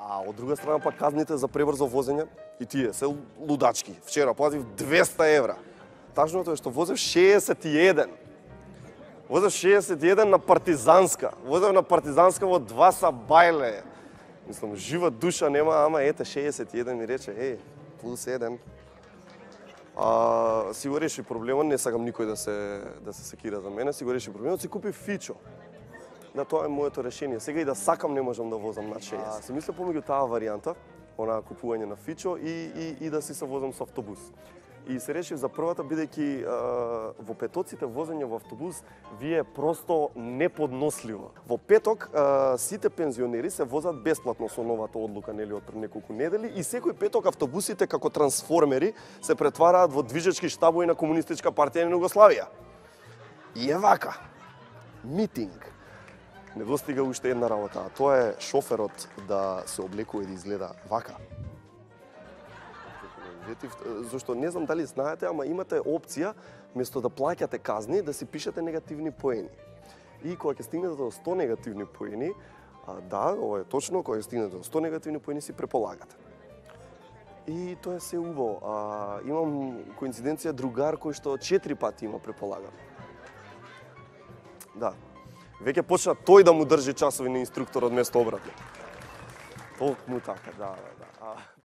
А од друга страна пак казните за пребрзо возење и тие се лудачки. Вчера платив 200 евра. Тажното е што возев 61. Возев 61 на Партизанска. Возев на Партизанска во 2 сабајле. Мислам, жива душа нема, ама ете 61 ми рече, плюс 1. Си го реши проблемот, не сакам никој да се секира за мене, си го реши проблемот, си купи Фичо. Да, тоа е моето решение. Сега и да сакам не можам да возам над 60. Си мисля помеѓу таа варијанта, онаа купување на Фичо и да си се возам со автобус. И се решив за првата, бидејќи во петоците возење во автобус ви е просто неподносливо. Во петок сите пензионери се возат бесплатно со новата одлука нели од пред неколку недели и секој петок автобусите како трансформери се претвараат во движечки штабови на Комунистичка партија на Југославија. И е вака. Митинг. Недостига уште една работа, а тоа е шоферот да се облекува и да изгледа вака. Зашто не знам дали знаете, ама имате опција место да плаќате казни да си пишете негативни поени. И кога ќе стигнете до 100 негативни поени, да, ова е точно, кога ќе стигнете до 100 негативни поени си преполагате. И тоа е се убаво. Имам коинциденција другар кој што 4 пати има преполагано. Да. Веќе почна тој да му држи часови на инструкторот место обратно. Толку му така, да.